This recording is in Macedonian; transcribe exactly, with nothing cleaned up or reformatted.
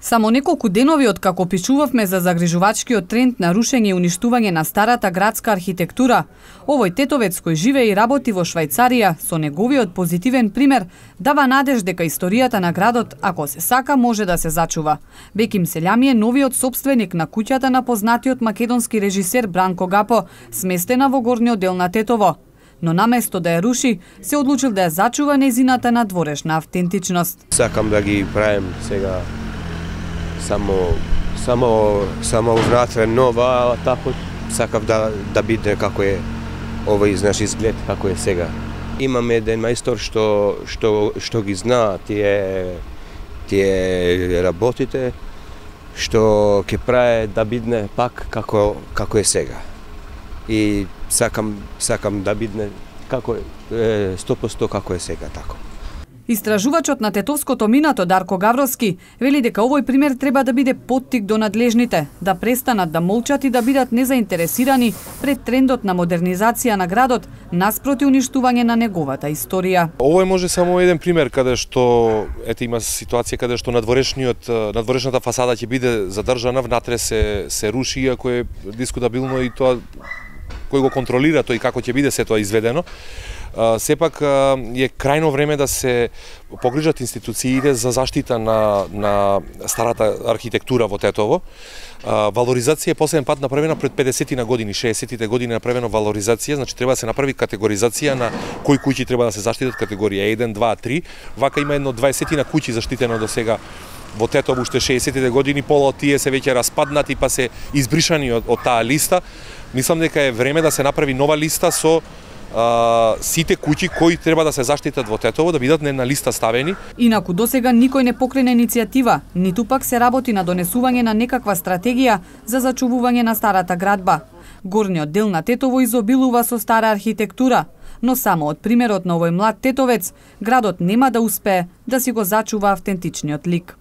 Само неколку денови од како пишувавме за загрижувачкиот тренд на рушење и уништување на старата градска архитектура, овој тетовец кој живее и работи во Швајцарија со неговиот позитивен пример дава надеж дека историјата на градот, ако се сака, може да се зачува. Беким Селјами е новиот собственик на куќата на познатиот македонски режисер Бранко Гапо, сместена во горниот дел на Тетово. Но наместо да ја руши, се одлучил да ја зачува нејзината надворешна автентичност. Сакам да ги правим сега само само само внатре нова, а тако сакав да да биде како е овој наш изглед како е сега. Имаме еден мајстор што што што ги зна тие тие работите, што ќе прави да бидне пак како како е сега. И сакам сакам да бидне како е сто проценти како е сега тако. Истражувачот на тетовското минато Дарко Гавровски вели дека овој пример треба да биде поттик до надлежните, да престанат да молчат и да бидат незаинтересирани пред трендот на модернизација на градот наспроти уништување на неговата историја. Овој може само еден пример каде што ете има ситуација каде што надворешниот надворешната фасада ќе биде задржана, внатре се се руши, иако е дискутабилно и тоа кој го контролира тој како ќе биде се тоа изведено. Uh, сепак uh, е крајно време да се погрижат институциите за заштита на, на старата архитектура во Тетово. Uh, валоризација е последен пат направена пред педесетина години, шеесеттите години направена валоризација, значи треба да се направи категоризација на кои куќи треба да се заштитат, категорија еден, два, три. Вака има едно дваесетина куќи заштитено до сега во Тетово уште шеесеттите години, пола од тие се веќе распаднати па се избришани од, од таа листа. Мислам дека е време да се направи нова листа со Uh, сите куќи кои треба да се заштитат во Тетово, да бидат на една листа ставени. Инаку досега никој не покрена иницијатива, ниту пак се работи на донесување на некаква стратегија за зачувување на старата градба. Горниот дел на Тетово изобилува со стара архитектура, но само од примерот на овој млад тетовец, градот нема да успее да си го зачува автентичниот лик.